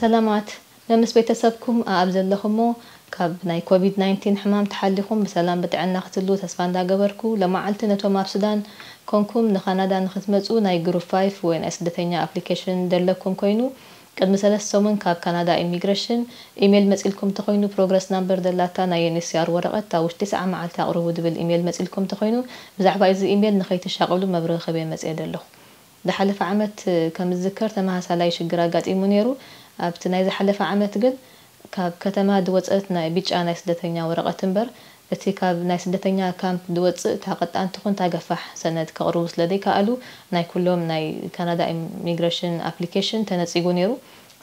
ሰላማት፣ መምስ ቤተሰብኩም ኣኣብ ዘለኹሞ ካብ ናይ ኮቪድ ናይንቲን ሕማም ተሓሊኹም ብሰላም ብጥዕና ክትሉ ተስፋ እንዳገበርኩ፣ ለመዓልቲ ነቶም ኣብ ሱዳን ኮንኩም ንካናዳ ንክትመጹ ናይ ግሩፕ ፋይፍ ወይ ናይ ስደተኛ ኣፕሊኬሽን ደለኩም ኮይኑ፣ ቅድሚ ሰለስተ ሰሙን ካብ ካናዳ ኢሚግሬሽን ኢሜል መጺልኩም ተኾይኑ፣ ፕሮግረስ ናምበር ደላታ ናይ ዩ ኤን ኤች ሲ ኣር ወረቐት ኣብ ውሽጢ ሰዓ መዓልቲ ኣቕርቡ ዝብል ኢሜል መጺልኩም ተኾይኑ፣ ብዛዕባ እዚ ኢሜል ንኸይትሻቐሉ መብርሂ ክህብ እየ መጺኤ ደለኹ። ዝሓለፈ ዓመት ከም ዝዝከር ተመሳሳላይ ሽግር ኣጋጢሙ ነይሩ። ኣብቲ ናይ ዝሓለፈ ዓመት ግን ካብ ከተማ ዝወጸት ናይ ብጫ ናይ ስደተኛ ወረቐት እምበር፣ እቲ ካብ ናይ ስደተኛ ካምፕ ዝወጽእ እታ ቀጣንቲ ኹን እታ ገፋሕ ሰነድ ከቕርቡ ስለ ዘይከኣሉ፣ ናይ ኩሎም ናይ ካናዳ ኢሚግሬሽን ኣፕሊኬሽን ተነጺጉ ነይሩ።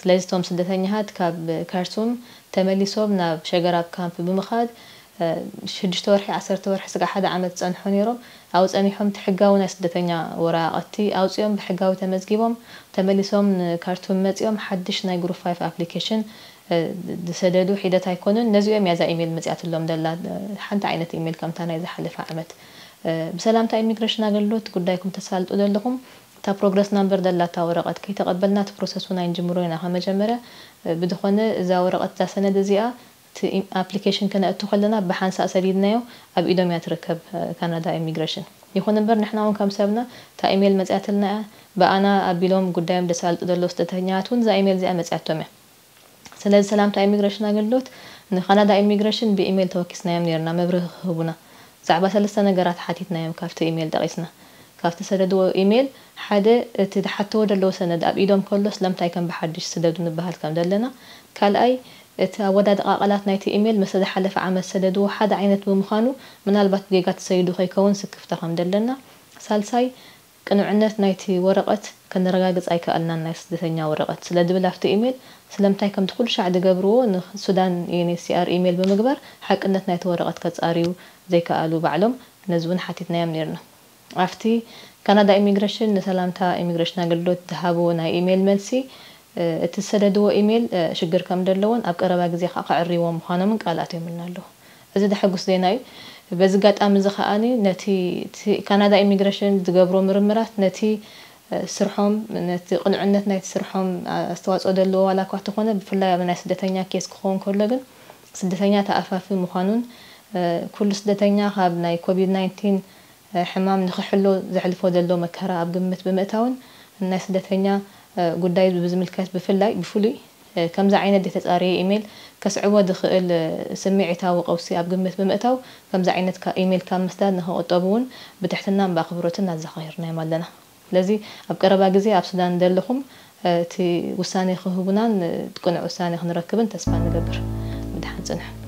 ስለዚ እቶም ስደተኛታት ካብ ካርቱም ተመሊሶም ናብ ሸገራብ ካምፕ ብምኻድ፣ እ፣ ሽዱሽተ ወርሒ፣ ዓሰርተ ወርሒ፣ ስጋዕ ሓደ ዓመት ዝጸንሑ ነይሮም። ኣብኡ ጸኒሖም እቲ ሕጋዊ ናይ ስደተኛ ወረቓቕቲ ኣውጺኦም ብሕጋዊ ተመዝጊቦም ተመሊሶም ንካርቱም መጺኦም ሓድሽ ናይ ግሩፕ ፋይፍ ኣፕሊኬሽን፣ እ፣ ዝሰደዱ ሒደት ኣይኮኑን። ነዚኦም እያ እዛ ኢሜል መጺኣትሎም ደላ፣ እ፣ ሓንቲ ዓይነት ኢሜል ከምታ ናይ ዝሓለፈ ዓመት። እ፣ ብሰላምታ ኢሚግሬሽን ኣገልግሎት ጉዳይኩም ተሳልጡ ዘለኹም እታ ፕሮግረስ ናምበር ደላታ ወረቐት ከይተቐበልና እቲ ፕሮሰስ እውን ኣይንጅምሮ ኢና። ከመጀመርያ፣ እ፣ ብዝኾነ እዛ ወረቐት እዛ ሰነድ እዚኣ እቲ ኢም-፣ ኣፕሊኬሽን ከነእቱ ከለና ብሓንሳእ ሰዲድናዮ ኣብ ኢዶም እያ ትርከብ፣ እ፣ ካናዳ ኢሚግሬሽን። ይኹን እምበር ንሕና እውን ከም ሰብና እታ ኢሜል መጺኣትልና እያ፣ ብኣና ኣቢሎም ጉዳዮም ዘሳልጡ ዘለዉ ስደተኛታት እውን እዛ ኢሜል እዚኣ መጺኣቶም እያ። ስለዚ ሰላምታ ኢሚግሬሽን ኣገልግሎት ንካናዳ ኢሚግሬሽን ብኢሜል ተወኪስናዮም ነይርና መብርሂ ክህቡና። ብዛዕባ ሰለስተ ነገራት ሓቲትናዮም ካብቲ ኢሜል ጠቒስና። ካብቲ ሰደድዎ ኢሜል ሓደ እቲ ዝሓትዎ ዘለዉ ሰነድ ኣብ ኢዶም ከሎ ስለምንታይ ከም ብሓድሽ ስደዱ ንበሃል ከም ዘለና፣ ካልኣይ እቲ ኣወዳድቓ ቃላት ናይቲ ኢሜል ምስ ዝሓለፈ ዓመት ሰደድዎ ሓደ ዓይነት ብምዃኑ ምናልባት ብጌጋ ተሰይዱ ከይከውን ስክፍታ ከም ዘለና፣ ሳልሳይ ቅኑዕነት ናይቲ ወረቐት ከነረጋግጽ ኣይከኣልናን፣ ናይ ስደተኛ ወረቐት ስለ ዝብል ኣብቲ ኢሜል ስለምንታይ ከምቲ ኩሉ ሻዕ ዝገብርዎ ንሱዳን ዩ ኤን ኤች ሲ ኣር ኢሜል ብምግባር ሓቅነት ናይቲ ወረቐት ከጻርዩ ዘይከኣሉ ባዕሎም ነዚ እውን ሓቲትናዮም ነይርና። ኣብቲ ካናዳ ኢሚግሬሽን ንሰላምታ ኢሚግሬሽን ኣገልግሎት ዝሃብዎ ናይ ኢሜል መልሲ፣ እ፣ እቲ ዝሰደድዎ ኢሜል፣ እ፣ ሽግር ከም ዘለዎን ኣብ ቀረባ ግዜ ከኣ ከዕርይዎ ምዃኖምን ቃል ኣትዮምልና ኣለዉ። እዚ ዘሐጉስ ዜና እዩ። በዚ ኣጋጣሚ እዚ ከኣኒ ነቲ፣ እቲ ካናዳ ኢሚግሬሽን ዝገብሮ ምርምራት ነቲ፣ እ፣ ስርሖም፣ ነቲ ቅኑዕነት ናይቲ ስርሖም ኣስተዋጽኦ ዘለዎ ዋላ እኳ እንተኾነ፣ ብፍላይ ኣብ ናይ ስደተኛ ኬስ ክኸውን ከሎ ግን ስደተኛ ተኣፋፊ ምዃኑን፣ እ፣ ኩሉ ስደተኛ ካብ ናይ ኮቪድ ናይንቲን ሕማም ንኽሕሎ ዘሕልፎ ዘሎ መከራ ኣብ ግምት ብምእታውን፣ ናይ ስደተኛ፣ እ፣ ጉዳይ ብዝምልከት ብፍላይ፣ ብፍሉይ፣ እ፣ ከምዚ ዓይነት ዘይተጻረየ ኢሜል ከስዕቦ ዝኽእል፣ እ፣ ስምዒታዊ ቀውሲ ኣብ ግምት ብምእታው፣ ከምዚ ዓይነት ካ-፣ ኢሜል ካብ ምስዳድ ንኽቑጠቡ እውን ብትሕትናን ብኣኽብሮትን ኣዘኻኺርናዮም ኣለና። ስለዚ ኣብ ቀረባ ግዜ ኣብ ሱዳን ዘለኹም፣ እ፣ እቲ ውሳኔ ክህቡናን፣ እ፣ ቅኑዕ ውሳኔ ክንረክብን ተስፋ ንገብር። ብደሓን ጽንሑ።